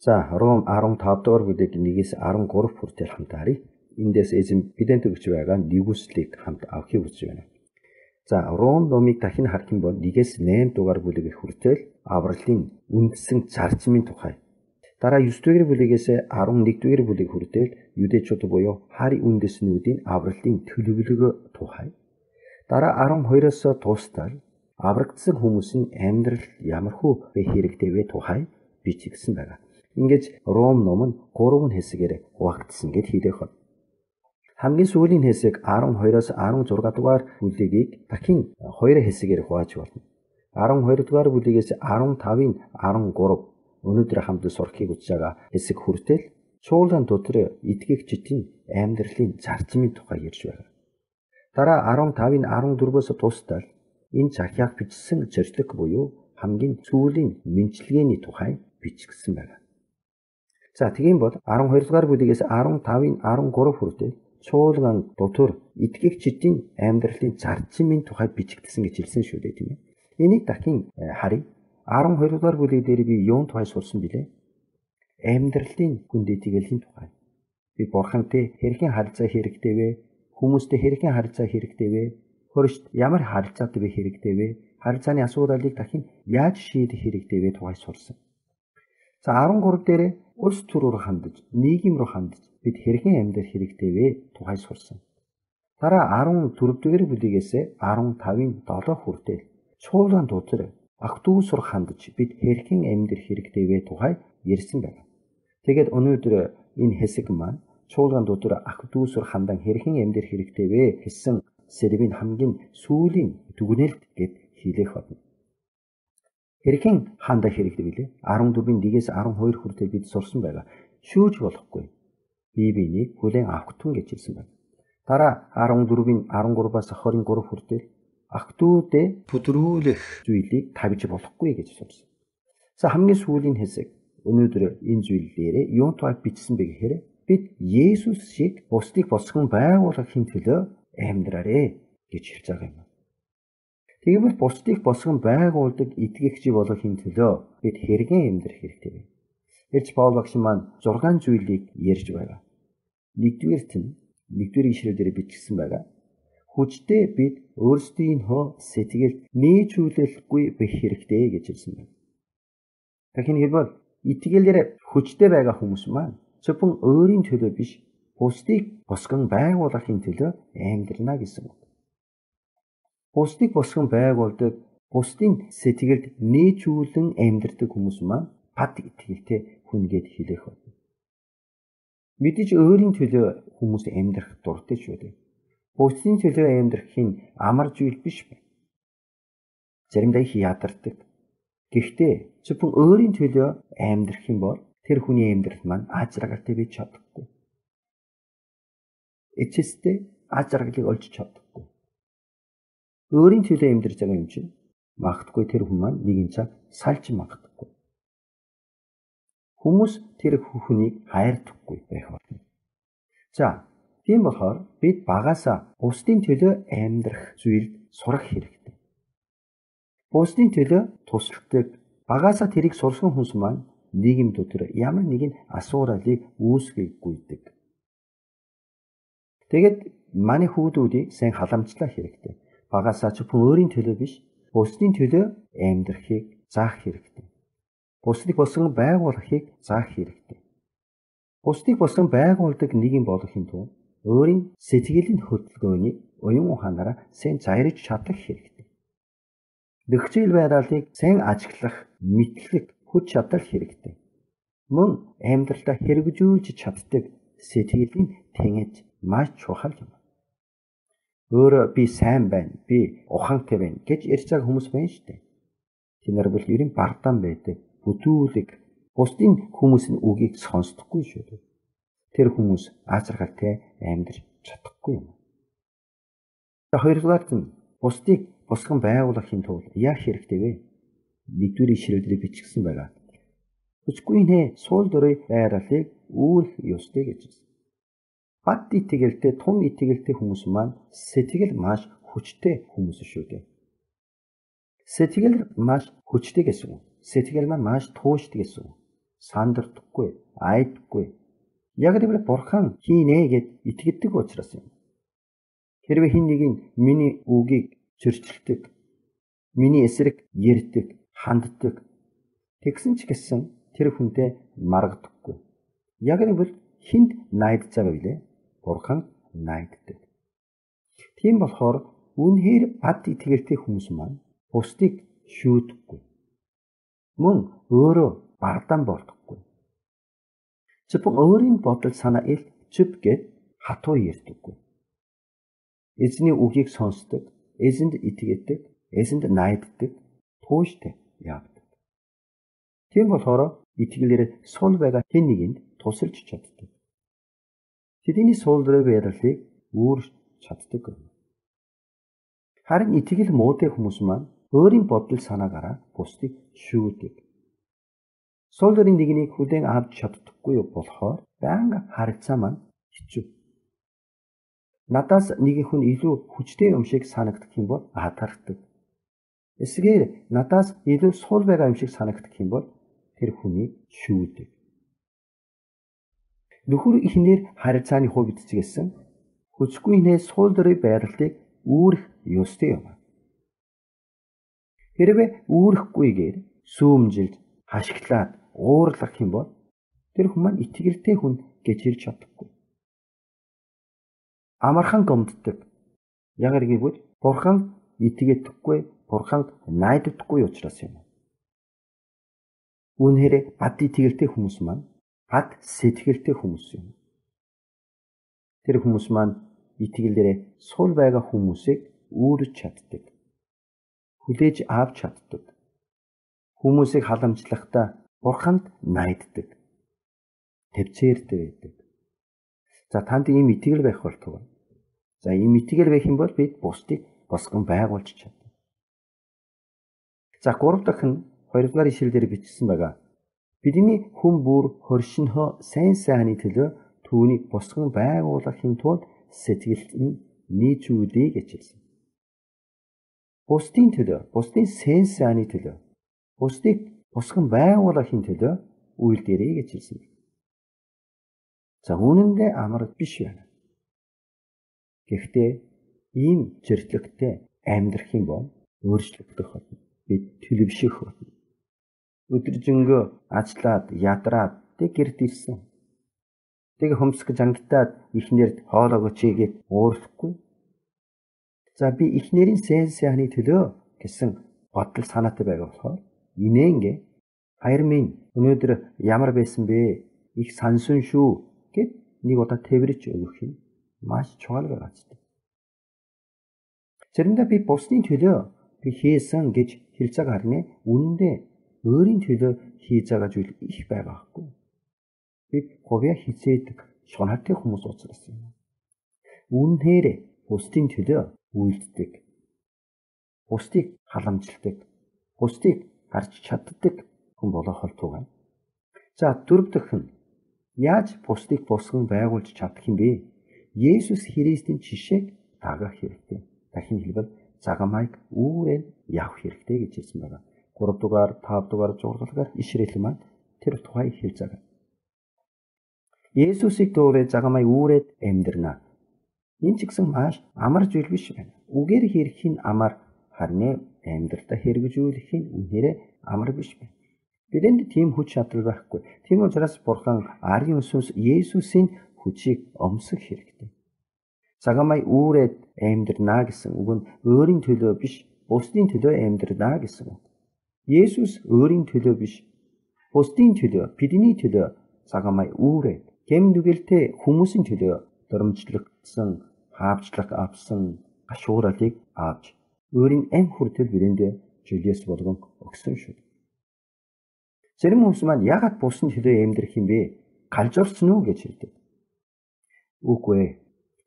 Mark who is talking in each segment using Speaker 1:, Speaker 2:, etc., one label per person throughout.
Speaker 1: За Ром 15 дугаар бүлэг 1-ээс 13 хүртэл хамт харъя. Эндээс эзэн бидэнд өгч байгаа нэгүслийг хамт авахыг хүсэж байна. За Ром номыг дахин харах юм бол 1-ээс 8 дугаар бүлэг хүртэл авралын үндсэн зарчмын тухай. Дараа 9 дугаар бүлэгээс 11 дугаар бүлэг хүртэл юдэчүүд буюу хари үндэснүүдийн авралын төлөвлөгөө тухай. Дараа 12-оос дуустал аврагдсан хүмүүсийн амьдрал ямархуу бэ хэрэгтэй вэ тухай бичигдсэн байна. Ингэж Ром ном нь 3 хэсгээр хуваагдсан гэд хэлэх байна. Хамгийн сүүлийн хэсэг 12-оос 16 дугаар бүлэгийг дахин 2 хэсгээр хувааж болно. 12 дугаар бүлэгээс 15-ын 13 өнөөдөр хамт сурахыг хүсэж байгаа хэсэг хүртэл чуулган дотор итгэгчдийн амьдралын зарчмын тухай ярьж байна. Дараа 15-ын 14-өөс дуустал энэ захиаг бичсэн зорилго буюу хамгийн сүүлийн мэнчилгээний тухай бичигдсэн байна. За тийм бол 12 дугаар бүлэгээс 15-ын 13 хүртэл чуулган дотор итгэгчдийн амьдралын зарчмын тухай бичигдсэн гэж хэлсэн шүү дээ, тийм ээ. Энийг дахин харъя. 12 дугаар бүлэг дээр би юун тухай сурсан билээ? Амьдралын хүндэтгэлгийн тухай. Би бурхантай хэрхэн харилцаа хэрэгтэй вэ? Хүмүүстэй хэрхэн харилцаа хэрэгтэй вэ? Хөршд ямар харилцаатай бэ хэрэгтэй вэ? Харилцааны асуудлыг дахин яаж шийдэх хэрэгтэй вэ тухай сурсан. За 13 дээр улс төр рүү хандаж, нийгэм рүү хандаж бид хэрхэн амьдрах хэрэгтэй вэ тухай сурсан. Дараа 14 дугаар бүлэгээс 15-ын 7 хүртэл чуулган дотор ах トゥ ус руу хандаж бид хэрхэн амьдрах хэрэгтэй вэ тухай ярьсан байна. Тэгээд өнөөдөр энэ хэсэг маань чуулган дотор ах トゥ ус руу хандан хэрхэн амьдрах хэрэгтэй вэ гэсэн сэрвийн хамгийн сүүлийн дүгнэлт гэд хэлэх болно. Хэрхэн хандах хэрэгтэй вэ? 14-ийн 1-ээс 12 хүртэл бид сурсан байгаа. Шүүж болохгүй. Бибинийг хүлээн авах тун гэж хэлсэн байна. Дараа 14-ийн 13-аас 23 хүртэл ах トゥ дэ бүдрүүлэх зүйлийг тавьж болохгүй гэж сурсан. За хамгийн сүүлийн хэсэг өнөөдөр энэ зүйл дээр юун тухай бичсэн бэ гэхээр бид Есүс шиг бусдыг босгон байгуулахын төлөө амьдраарэ гэж хэлж байгаа юм. Тэгвэл бусдыг босгон байгуулдаг итгэгч болохын төлөө бид хэрхэн амьдрах хэрэгтэй вэ? Элч Паул багш маань 6 зүйлийг ярьж байгаа. Нэгдүгээрт нь 1-р ишлэлээр бичсэн байгаа. Хүчтэй бид өөрсдийнхөө сэтгэл нээжүүлэхгүй байх хэрэгтэй гэж хэлсэн байна. Дахин хэлбэл итгэлээр хүчтэй байгаа хүмүүс маань зөвхөн өөрийн төлөө биш, бусдыг босгон байгуулахын төлөө амьдрна гэсэн үг. Бусдыг босгон байгуулдаг, бусдын сэтгэлд нээжүүлэн амьдрдаг хүмүүс маань пат итгэлтэй хүн гэд хэлэх байна. Мэдээж өөрийн төлөө хүмүүс амьдрах дуртай шүү дээ. Бусдын төлөө амьдрахын амар зүйл биш байна. Заримдаа их ядардаг. Гэхдээ зөвхөн өөрийн төлөө амьдрах юм бол тэр хүний амьдрал маань аз жаргалтай байж чадахгүй. Эцэстээ аз жаргалыг олж чадахгүй. Өөрийн төлөө амьдарч байгаа юм чинь магадгүй тэр хүн маань нэгэн цаг салж магадгүй. Хүмүүс тэр хүнийг хайрдаггүй байх болно. За, тийм болохоор бид багаасаа бусдын төлөө амьдрах зүйлд сурах хэрэгтэй. Бусдын төлөө тусалдаг, багаасаа тэрийг сурсан хүмүүс маань нийгэм дотор ямар нэгэн асуудлыг үүсгэхгүйдэг. Тэгээд манай хүүхдүүдийг сайн халамжлах хэрэгтэй. Багаасаа зөвхөн өөрийн төлөө биш, бусдын төлөө амьдрахыг заах хэрэгтэй. Бусдыг босгон байгуулахыг заах хэрэгтэй. Бусдыг босгон байгуулдаг нийгэм болохын тулд өөрийн сэтгэлийн хөдөлгөөнийг уян ухаанаараа сайн зайрж чадах хэрэгтэй. Нөхцөл байдлыг сайн ажиглах мэдлэг, хүч чадал хэрэгтэй. Мөн амьдралдаа хэрэгжүүлж чаддаг сэтгэлийн тэнэж маш чухал юм. Өөрөө би сайн байна, би ухаантай байна гэж ярьж байгаа хүмүүс байна шүү дээ. Тэнд бол ерэн бардаан байдаг, бүтүүлэг, бусдын хүмүүсийн үгийг сонсдоггүй шүү дээ. Тэр хүмүүс аз жаргалтай амьдрч чадахгүй юм. Хоёрдугаар нь бусдыг босгон байгуулахын тулд яах хэрэгтэй вэ? 1-р ишлэлээр бичигдсэн байгаа. Хүчгүй нэ суул дөрөй байралыг үүрэх ёстой гэж байна. Бат итгэлтэй, тун итгэлтэй хүмүүс маань сэтгэл маш хүчтэй хүмүүс шүү дээ. Сэтгэл маш хүчтэй гэсэн үг. Сэтгэл маань маш тууштай гэсэн үг. Сандардаггүй, айдаггүй. Яг гэвэл бурхан хийнэ гэд итгэдэг учраас юм. Хэрвээ хэн нэг нь миний үгийг зөрчилдөг, миний эсрэг ярьдаг, ханддаг тэгсэн ч гэсэн тэр хүнтэй маргадаггүй. Яг гэвэл хүнд найдаж байгаа билээ. Бурхан найддаг. Тийм болохоор үнэхээр бат итгэлтэй хүмүүс маань бусдыг шүүдэггүй. Мөн өөрөө бардан болдоггүй. Зөвхөн өөрийн бодол санаа ил чүп гэд хатуу ярьдаггүй. Эзний үгийг сонсдог, эзэнд итгэдэг, эзэнд найддаг, тууштай явдаг. Тийм болохоор итгэлээр сул байгаа хэн нэгэнд тусалж чаддаг. Тэдний сул дээрээ байрлалыг үүрч чаддаг. Харин итгэл муутай хүмүүс маань өөрийн бодол санаагаараа бусдыг шүүдэг. Сул дээрийн нэгнийг хүлээн авч чаддаггүй болохоор байнга харилцаа маань хэцүү. Надаас нэг хүн илүү хүчтэй юм шиг санагдах юм бол атархдаг. Эсвэл надаас илүү сул байгаа юм шиг санагдах юм бол тэр хүнийг шүүдэг. Нөхөр ихнэр харилцааны хувьд ч гэсэн хүчгүй нэ сул дээрээ байрлалыг үүрэх ёстой юм. Хэрвээ үүрэхгүйгээр сүүмжилж, хашигтлаад, уурлах юм бол тэр хүн маань итгэлтэй хүн гэж хэлж чадахгүй. Амархан гомддог. Яг гэвэл бурхан итгэдэггүй, бурханд найддаггүй учраас юм. Үнэхээр бат итгэлтэй хүмүүс маань бат сэтгэлтэй хүмүүс юм. Тэр хүмүүс маань итгэлээрээ сул байгаа хүмүүсийг үүрэж чаддаг. Хүлээж авч чаддаг. Хүмүүсийг халамжлахдаа бурханд найддаг. Төвцээртэй байдаг. За танд ийм итгэл байх болтугай. За ийм итгэл байх юм бол бид бусдыг босгон байгуулж чадна. За 3 дахь нь 2 дугаар ишлэлээр бичсэн байгаа. Бидний хүн бүр хоршинхоо сайн сайхны төлөө түүнийг босгон байгуулахын тулд сэтгэл нь нийцүүлээ гэж хэлсэн. Бусдын төлөө, бусдын сайн сайхны төлөө, бусдыг босгон байгуулахын төлөө үйлдэрэй гэж хэлсэн. За үүнэндээ амар биш байна. Гэхдээ ийм зэрлэгтэй амьдрах юм бол өөрчлөгдөх болно. Бид төлөвшөх болно. Өдөржингөө ажиллаад, ядраад тэг гэрд ирсэн. Тэг хөмсгөж ангитаад ихнэрд хоолоо өчийгээд уурахгүй. За би ихнэрийн сайн сайхны төлөө гэсэн бодол санаатай байгаа болохоор инээнгээ хайр минь өнөөдөр ямар байсан бэ? Их сансан шүү гэд нэг удаа тэрвэрч өгөх юм маш чухал байгаа ч. Заримдаа би бусдын төлөө би хийсэн гэж хэлж байгаа харин үнэндээ өөрийн төлөө хийж байгаа зүйл их байгаа байхгүй. Бид говья хизээдэг шунаатай хүмүүс учраас юм. Үнээр бусдын төлөө үйлддэг. Бусдыг халамжладаг. Бусдыг харж чаддаг хүн болох болтугай. За 4 дахь нь яаж бусдыг босгон байгуулж чадах юм бэ? Есүс Христийн жишээг дагах хэрэгтэй. Дахин хэлбэл загамайг үүрэн явах хэрэгтэй гэж хэлсэн байна. 3 дугаар, 5 дугаар зургалгаар ишрэл маань тэр тухай хэлж байгаа. Есүсийг дуурай загамай үүрээд амьдрнаа. Энэ ч гэсэн маш амар зүйл биш байна. Үгээр хийх нь амар харин амьдралдаа хэрэгжүүлэх нь үнээрээ амар биш байна. Бидэнд тийм хүч чадвар байхгүй. Тийм учраас Бурхан Аарын өсөөс Есүсийн хүчийг өмсөх хэрэгтэй. Загамай үүрээд амьдрнаа гэсэн үг нь өөрийн төлөө биш, бусдын төлөө амьдрнаа гэсэн үг. Есүс өөрийн төлөө биш, бусдын төлөө, бидний төлөө загамай үүрээд гэмнүгэлтэй хүмүүсийн төлөө дөрмжлөгдсөн, хаавчлах авсан гашууралыг авч өөрийн амь хүртэл бирэндээ жилээс болгон өгсөн шүү. Зарим хүмүүс маань яагаад бусдын төлөө амьдрах юм бэ? Галжуурсан уу гэж хэлдэг. Үгүй ээ.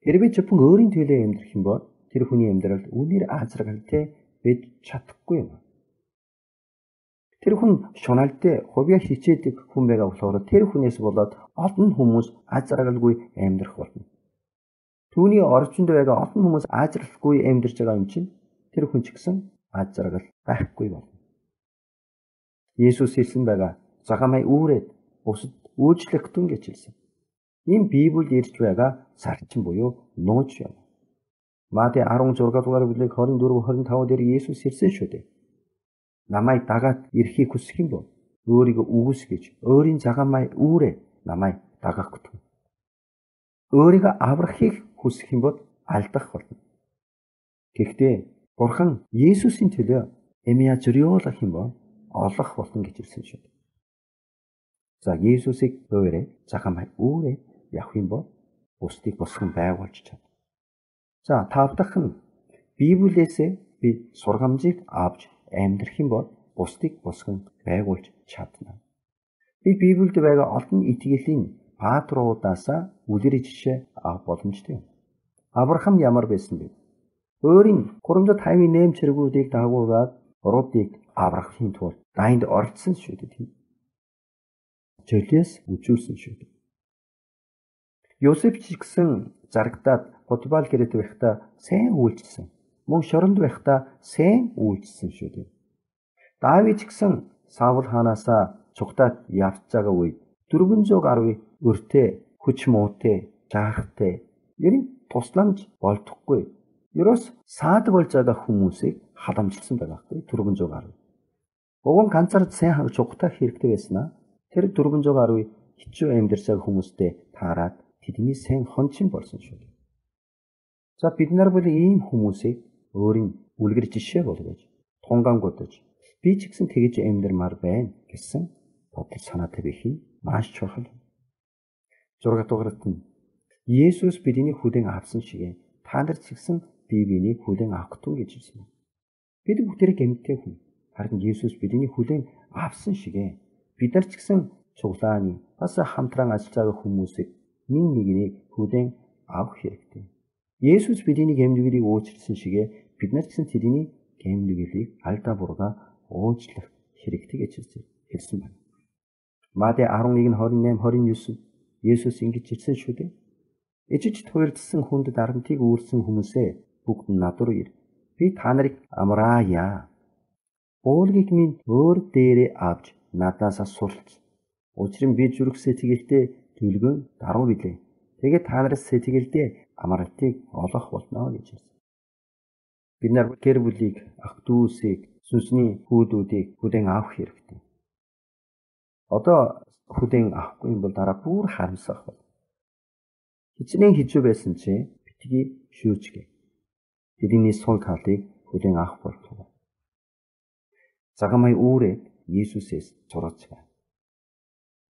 Speaker 1: Хэрвээ зөвхөн өөрийн төлөө амьдрах юм бол тэр хүний амьдралд үнээр аазаргалтай байж чадахгүй юм. Тэр хүн шуналтай хувья хичээдэг хүн байгаа болохоор тэр хүнээс болоод олон хүмүүс аазаргалгүй амьдрах болно. Түүний орчинд байгаа олон хүмүүс аазарлахгүй амьдарч байгаа юм чинь тэр хүн ч гэсэн аазаргал байхгүй болно. Есүс хэлсэн байгаа загамай үүрээд бусад үйлчлэгтэн гэж хэлсэн. Энэ Библиэд ирж байгаа зарчим буюу нууц юм. Матай 16 дугаар бүлэг 24 25 дээр Есүс хэлсэн шүү дээ. Намайг дагаад ирэхийг хүсэх юм бол өөрийгөө үгүйсгэж өөрийн цагаамай үүрээ намайг дагах гүтэн. Өөрийгөө аврахыг хүсэх юм бол алдах болно. Гэхдээ Бурхан Есүсийн төлөө эмиа зөриөлөх юм бол олох болно гэж хэлсэн шүү. За Есүсийг өөрөө цагаамай үүрээ явах юм бол бусдыг босгон байгуулж чадна. За тавдах нь Библиэс би сургамжийг авч амьдрах юм бол бусдыг босгон байгуулж чадна. Би Библиэд байгаа олон итгэлийн патруудаас үлгэр жишээ авах боломжтой юм. Авраам ямар байсан бэ? Өөрийн 358 цэргүүдийг дагуулгаад Рутыг аврахын тулд дайнд оролцсон шүү дээ. Жолиос үжүүлсэн шүү дээ. Йосеф ч гэсэн зарагдаад Потибар гэрэт байхдаа сайн үйлчилсэн. Мөн шоронд байхдаа сайн үйлчилсэн шүү дээ. Давид ч гэсэн Саул хаанасаа цугтаад явж байгаа үед 400 гаруй өртөө, хүч муутай, жаархтай ерэн тусламж болдохгүй. Ерөөс саад болж байгаа хүмүүсийг халамжилсан байгаа хэрэг 400 гаруй. Уг нь ганцаар сайн цугтах хэрэгтэй байснаа тэр 400 гаруй хичүү амьдарсаг хүмүүстэй таарад тэдний сайн хончин болсон шүү. За бид нар бол ийм хүмүүсийг өөрийн үлгэр жишээ болгож тунгангуудаж би ч гэсэн тэгж амьдармаар байна гэсэн бодол санаатай байх нь маш чухал. 6 дугаарт нь Есүс бидний хүлээн авсан шиг та нар ч гэсэн биений хүлээн авах тун гэж хэлсэн. Бид бүгдээрээ гэмтээ хүн. Харин Есүс бидний хүлээн авсан шиг бид нар ч гэсэн цуглааны бас хамтран ажиллаж байгаа хүмүүсийг нэг хүлээн авах хэрэгтэй. Есүс бидний гэмнүглийг уучлсан шиг бид нар ч гэсэн тэдний гэмнүглийг алдаа буруугаа уучлах хэрэгтэй гэж хэлсэн байна. Матай 11:28-29 Есүс ингэж хэлсэн шүү дээ. Ижиж туйлдсан хүнд дарамтыг үүрсэн хүмүүсээ бүгд над руу ир. Би та нарыг амраая. Уулгийг минь өөр дээрээ авч надаас суралц. Учир нь би зүрх сэтгэлдээ төлгөө даруй билээ. Тэгээд та нараас сэтгэлдээ амралтыг олох болно гэж хэлсэн. Бид нар гэр бүлийг, ах дүүсийг, сүнсний хүүдүүдийг хүлээн авах хэрэгтэй. Одоо хүлээн авахгүй юм бол дараа бүр харамсах бол. Хичнээн хижүү байсан чи битгий шүүжгээ. Тэдний сул талыг хүлээн авах болтугай. Цагаамай үүрээ Есүсээс зураач.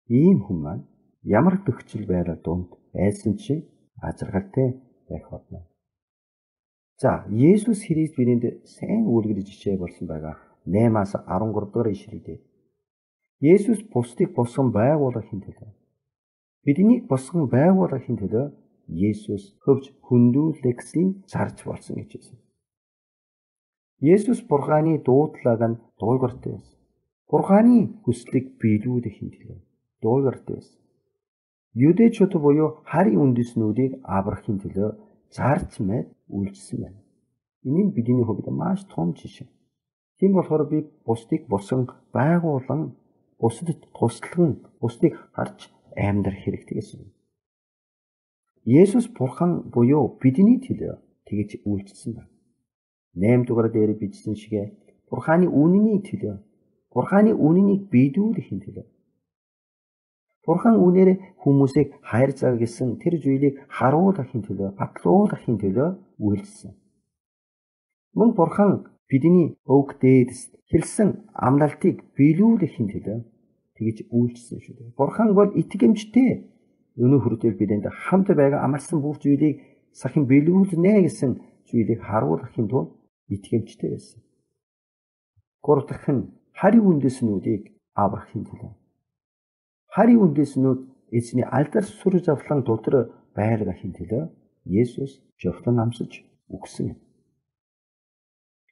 Speaker 1: Ийм хүн маань ямар төгсөл байрал дунд байсан чи ажиргалтай байх болно. За Есүс Христ бидэнд сайн үлгэр жишээ болсон байгаа 8-аас 13 дугаар ишлэлдээ Есүс бусдыг босгон байгуулахын төлөө биднийг босгон байгуулахын төлөө Есүс хөвж хүндүүлэгсийн зарж болсон гэж хэлсэн. Есүс Бурханы дуудлагыг нь дуулгартай байсан. Бурханы хүслийг биелүүлэхин төлөө дуулгартай байсан. Юдэчүүд буюу харийн үндэснүүдийг аврахын төлөө зарж мэд үйлчилсэн байна. Энэ нь бидний хувьд маш том жишээ. Тийм болохоор би бусдыг босгон байгуулан бусдад туслаган бусдыг харж амьдрах хэрэгтэй гэсэн. Есүс Бурхан буюу бидний төлөө тэгж үйлчилсэн байна. 8 дугаар дээр бичсэн шигэ Бурханы үнэний төлөө Бурханы үнэнийг биелүүлэхин төлөө Бурхан үнээр хүмүүсийг хайр заа гэсэн тэр зүйлийг харуулахын төлөө батлуулахын төлөө үйлчилсэн. Мөн Бурхан бидний өг дээдэс хэлсэн амлалтыг биелүүлэхин төлөө тэгж үйлчилсэн шүү дээ. Бурхан бол итгэмжтэй. Өнөө хүртэл бидэнд хамт байгаа амарсан бүх зүйлийг сахин биелүүлнэ гэсэн зүйлийг харуулахын тулд итгэмжтэй байсан. Гурав дахь нь харийн үндэснүүдийг аврахын төлөө. Харийн үндэснүүд эзний алдар сүр завлан дотор байлгахын төлөө Есүс жовтлон амсаж өгсөн юм.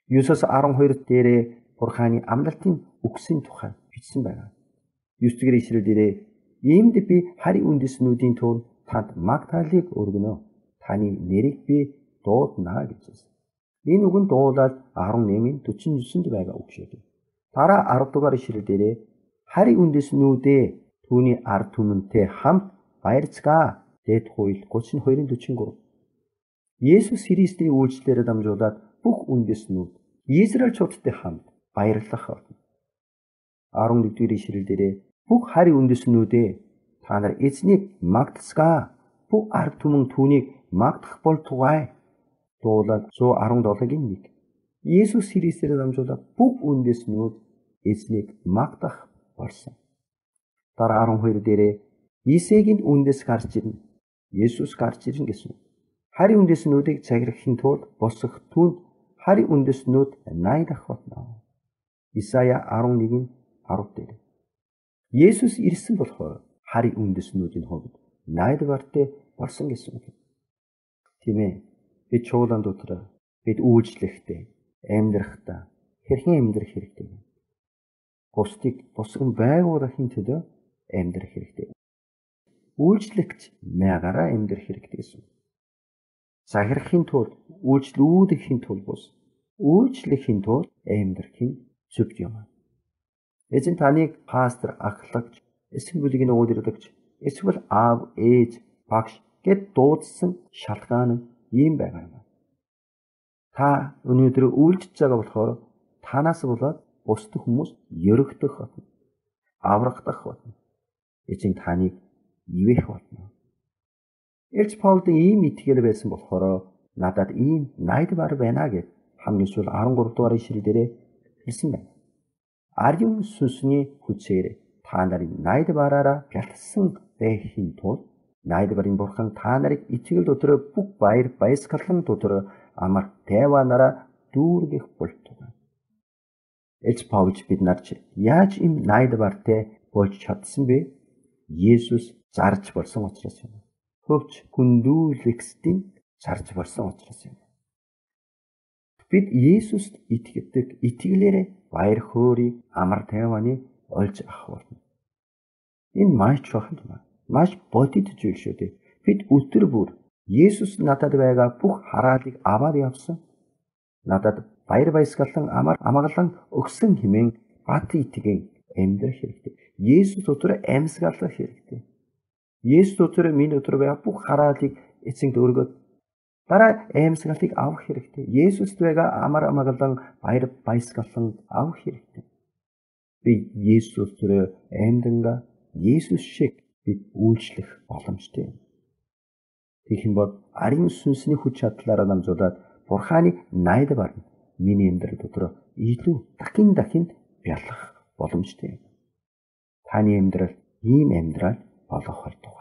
Speaker 1: Юсус 12 дээрээ Бурханы амлалтын үгсийн тухай бичсэн байна. 9 дугаар ишлэл дээрээ иймд би харийн үндэснүүдийн тулд танд магтаалыг өргөнө. Таны нэрийг би дуудана гэж хэлсэн. Энэ үг нь дуулаад 18:49-д байгаа үг шүү дээ. Дараа 10 дугаар ишлэл дээрээ харийн үндэснүүдээ түүний ард түмэнтэй хамт баярцгаа. Дэд хууль 32:43. Есүс Христийн үйлчлэлээр дамжуулаад бүх үндэстнүүд Израильчуудтай хамт баярлах болно. 11-р ишлэл дээрээ бүх хари үндэстнүүдээ та нар эзнийг магтацгаа. Бүх ард түмэн түүнийг магтах болтугай. Дуулал 117:1. Есүс Христээр дамжуулаад бүх үндэстнүүд эзнийг магтах болсон. Дараа 12 дээрээ Исегийн үндэс гарч ирнэ. Есүс гарч ирнэ гэсэн. Хари үндэстнүүдийг захирахын тулд босох түнд хари үндэстнүүд найдах болно. Исая 11:10 дээр. Есүс ирсэн болохоор хари үндэстнүүдийн хувьд найдвартай болсон гэсэн үг. Тийм ээ. Бид чуулган дотор бид үйлчлэхдээ амьдрахдаа хэрхэн амьдрах хэрэгтэй вэ? Бусдыг босгон байгуулахын төлөө амьдрах хэрэгтэй. Үйлчлэгч мягаараа амьдрах хэрэгтэй гэсэн. Захирахын тулд, үйлчлүүлэхийн тулд бус, үйлчлэхийн тулд амьдрахын зөв юм. Эзэн таныг пастор, ахлагч, эсвэл бүлгийн удирдагч, эсвэл аав, ээж, багш гэд дуудсан шалтгаан нь ийм байгаа юм. Та өнөөдөр үйлчлж байгаа болохоор танаас болоод бусд хүмүүс ерөгдөх болно. Аврагдах болно. Эзэн таныг ивэх болно. Элч Паулын ийм итгэл байсан болохоор надад ийм найдвар байна гэж хамгийн сүүл 13 дугаар ишлэл дээр хэлсэн байна. Ариун сүнсний хүчээр та нарын найдвараараа бялтсан байхын тулд найдварын бурхан та нарыг итгэл дотор бүх баяр баясгалан дотор амар тайванаараа дүүргэх болтугай. Элч Паулч бид нарч яаж ийм найдвартай болж чадсан бэ? Есүс зарж болсон учраас юм. Хөвч хүндүүлэгсдийн зарж болсон учраас юм. Бид Есүст итгэдэг итгэлээрээ баяр хөөргийг амар тайваны олж авах болно. Энэ маш чухал юм. Маш бодит зүйл шүү дээ. Бид өдөр бүр Есүс надад байгаа бүх хараалыг аваад явсан. Надад баяр баясгалан амар амгалан өгсөн хэмээн бат итгэн амьдрах хэрэгтэй. Есүс дотор амьсгалах хэрэгтэй. Есүс дотор минь дотор байгаа бүх хараалыг эцэгт өргөд дараа амьсгалыг авах хэрэгтэй. Есүст байгаа амар амгалан баяр баясгалан авах хэрэгтэй. Би Есүс дотор амьданга Есүс шиг бид үйлчлэх боломжтой юм. Тэгэх бол ариун сүнсний хүч чадлаараа дамжуулаад Бурханы найдвар нь миний амьдрал дотор илүү дахин бялах боломжтой юм. Таны амьдрал ийм амьдрал болох болтугай.